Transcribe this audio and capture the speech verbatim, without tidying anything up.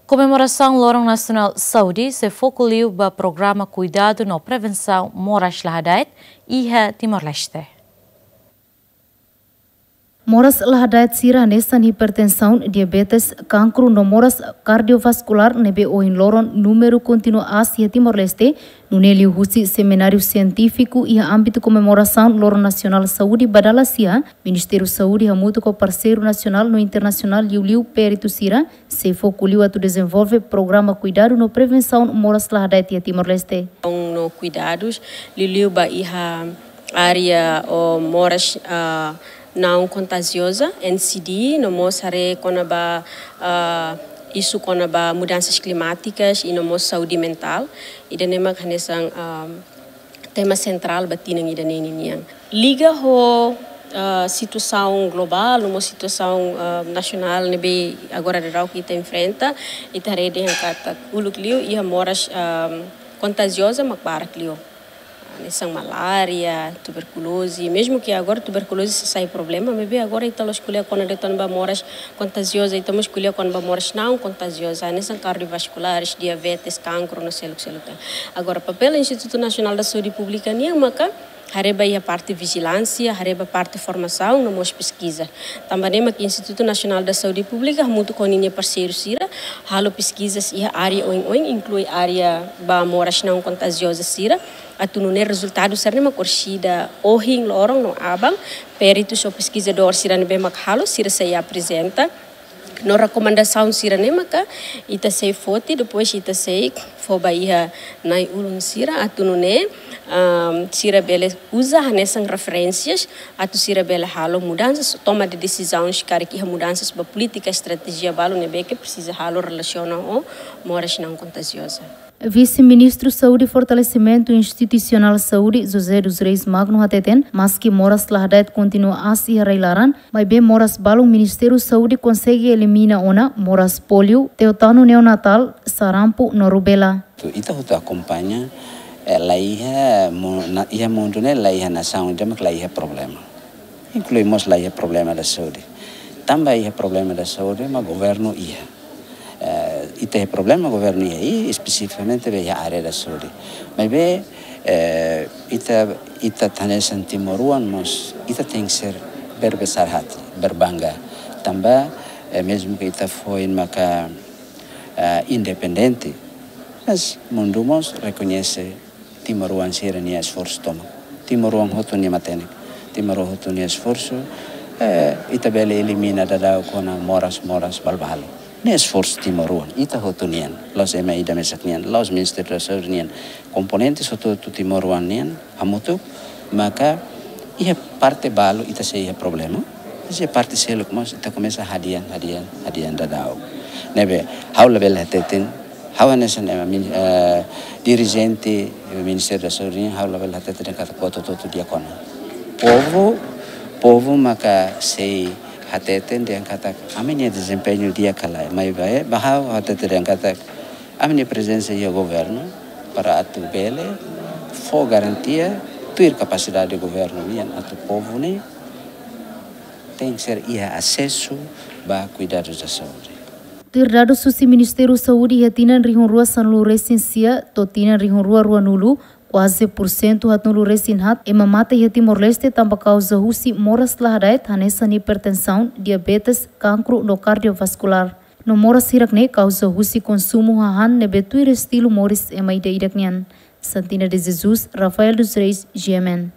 Komemorasaun Loron Nasionál Saúde sei foku liu ba programa kuidadu no prevensaun moras la hada'et iha Timor-Leste. Moras la hada'et sira hanesan hipertensaun, diabetes, kankru no moras kardiovaskulár ne'ebé ohin loron númeru kontinua aas iha Timor-Leste, nune'e liuhusi semináriu sientífiku iha ámbitu komemorasaun Loron Nasionál Saúde ba dala sia, Ministériu Saúde hamutuk ho parseiru nasionál no internasionál, liuliu peritu sira, sei foku liu atu dezenvolve programa kuidadu no prevensaun moras la hada'et iha Timor-Leste. No kuidadus liuliu ba iha área moras, ah, não contagiosa, N C D, no mós haree kona-ba, ah, isu kona-ba mudansas klimátikas i no mós saúde mentál. Ida-ne'e mak hanesan, ah, tema sentrál ba tinan ida-ne'e ninian. Liga ho, ah, situasaun globál, no mós situasaun, ah, nasionál ne'ebé agora daudaun ita enfrenta, ita haree dehan katak uluk liu iha moras, ah, kontagioza mak barak liu. Hanesan malária, tuberkuloze, mezmu ke agora tuberkuloze sei sai problema, maibé agora ita la'ós ko'alia kona-ba de'it moras kontagioza, ita mós ko'alia kona-ba moras não contagiosa, hanesan kardiovaskulár, diabetes, kankru no seluk-seluk. Agora, papél Institutu Nasionál da Saúde Públika nian maka haree ba iha parte vijilánsia, haree ba parte formasaun no mós peskiza. Tanba ne'e mak Institutu Nasionál da Saúde Públika hamutuk ho ninia parseiru sira halo peskizas iha área oin-oin, inklui área ba moras não contagiosa sira, atu nune'e rezultadu sira-ne'e mak orsida ohin loron no aban, peritus ou peskizadór sira ne'ebé mak halo, sira sei aprezenta. No rekomendasaun sira-ne'e maka ita sei foti, depois ita sei fó ba iha na'i-ulun sira atu nune'e, ah, sira bele uza hanesan referénsias atu sira bele halo mudansas, toma de desizaun, se karik iha mudansas ba polítika, estratéjia balu ne'ebé ke presiza halo relasiona ho moras não contagiosa. Vise-Ministru Saúde Fortalesimentu Institusionál Saúde, José dos Reis Magno hateten, maski moras la hada'et kontinua aas iha rai-laran, maibé moras balun Ministériu Saúde konsege elimina ona, moras póliu, tétanu neonatál, sarampu no rubéola. Ita hotu akompaña, eh, la iha mu-, na, iha mundu ne'e la iha nasaun ida mak la iha problema. Inklui mós la iha problema da saúde. Tanba iha problema da saúde, mak governu iha. Eh, ita iha problema governu iha, i espesifikamente ba iha área da saúde. Maibé, eh, ita, ita hanesan timoroan mós, ita tenke ser berbesar hati, berbangga. Tanba, eh, mezmu ke ita foin maka, eh, independente, mas mundu mós rekoñese timoroan sira-nia esforsu tomak. Timoroan hotu nia matenek. Timoroan hotu nia esforsu, eh, ita bele elimina daudaun kona moras, moras balbalu. Ne'e esforsu timoroan, ita hotu nian. La'ós ema ida mesak nian, la'ós Ministériu da Saúde nian. Komponentes hotu-hotu timoroan nian hamutuk, maka iha parte balu ita sei iha problema. Mas iha parte seluk mós ita komesa hadi'a, hadi'a, hadi'a daudaun. Ne'ebé, ha'u labele hateten, ha'u hanesan ema min-, eh, dirijente Ministériu da Saúde, ha'u labele hateten dehan katak buat hotu-hotu di'ak ona. Povu, povu maka sei hateten dehan katak ami-nia dezempeñu di'ak ka lae, maibé ba ha'u hateten dehan katak ami-nia prezensa iha governu para atu bele fó garantia tuir kapasidade governu nian atu povu ne'e tenke ser iha asesu ba kuidadus da saúde. Tuir dadus husi Ministériu Saúde, iha tinan rihun rua sanulu resin sia to'o tinan rihun rua ruanulu, kuaze pursentu haatnulu resin haat ema mate iha Timor-Leste tanba kauza husi moras la hada'et hanesan hipertensaun, diabetes, kankru no kardiovaskulár. No moras hirak-ne'e kauza husi konsumu hahán ne'ebé tuir estilu moris ema ida-idak nian. Santina de Jesus, Rafael dos Reis, G M N.